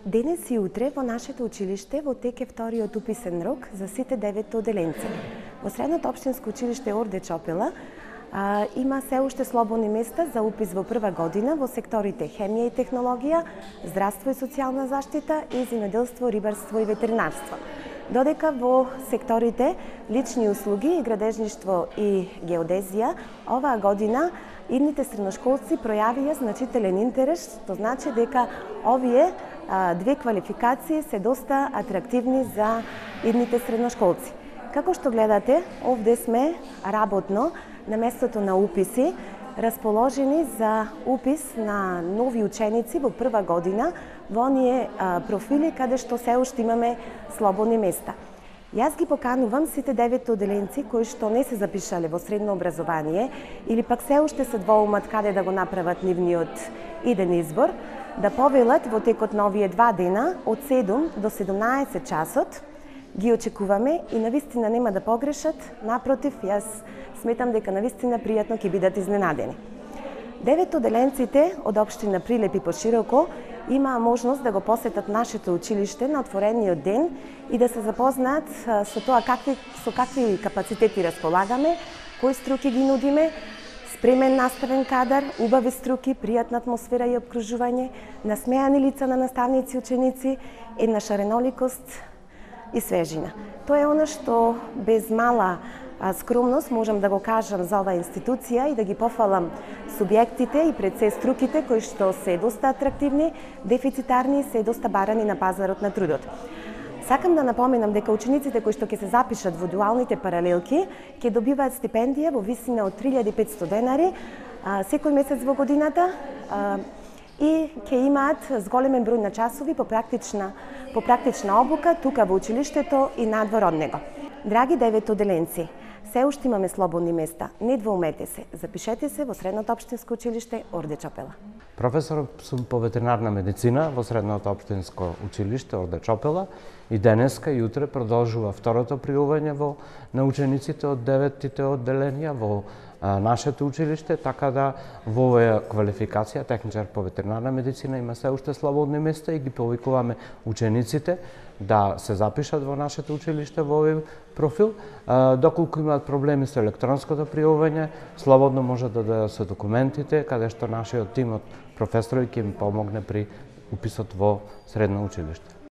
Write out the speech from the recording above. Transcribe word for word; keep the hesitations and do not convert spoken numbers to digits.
Денес и утре во нашето училиште во тек е вториот уписен рок за сите девет оделенци. Во Средното општинско училиште Орде Чопела а, има се уште слободни места за упис во прва година во секторите хемија и технологија, здравство и социјална заштита и земјоделство, рибарство и ветеринарство. Додека во секторите лични услуги, градежништво и геодезија, оваа година идните средношколци пројавија значителен интерес, што значи дека овие а, две квалификации се доста атрактивни за идните средношколци. Како што гледате, овде сме работно на местото на уписи, расположени за упис на нови ученици во прва година во оние а, профили каде што се уште имаме слободни места. Јас ги поканувам сите девет оделенци кои што не се запишале во средно образование или пак се уште се двоумат каде да го направат нивниот иден избор, да повелат во текот на овие два дена од седум до седумнаесет часот. Ги очекуваме и навистина нема да погрешат, напротив, јас сметам дека навистина пријатно ќе бидат изненадени. Девет оделенците од општина Прилеп и пошироко имаа можност да го посетат нашето училиште на отворениот ден и да се запознаат со тоа какви, со какви капацитети располагаме, кои струки ги нудиме, спремен наставен кадар, убави струки, пријатна атмосфера и обкружување, насмеани лица на наставници и ученици, една шареноликост и свежина. Тоа е она што без мала скромност можам да го кажам за оваа институција и да ги пофалам субјектите и пред се струките кои што се доста атрактивни, дефицитарни и се доста барани на пазарот на трудот. Сакам да напоменам дека учениците кои што ќе се запишат во дуалните паралелки ќе добиваат стипендија во висина од три илјади и петстотини денари секој месец во годината и ќе имаат зголемен број на часови по практична по практична обука тука во училиштето и надвор од него. Драги девет оделенци, се уште имаме слободни места. Не двоумете се. Запишете се во Средното општинско училиште Орде Чопела. Професор сум по ветеринарна медицина во Средното општинско училиште Орде Чопела и денеска и утре продолжува второто пријување во на учениците од деветите одделенија во а, нашето училиште, така да во оваа квалификација техничар по ветеринарна медицина има се уште слободни места и ги повикуваме учениците да се запишат во нашето училиште во овој профил. Доколку имаат проблеми со електронското пријавување, слободно може да дојдат со документите, каде што нашиот тим од професори ќе им помогне при уписот во средно училиште.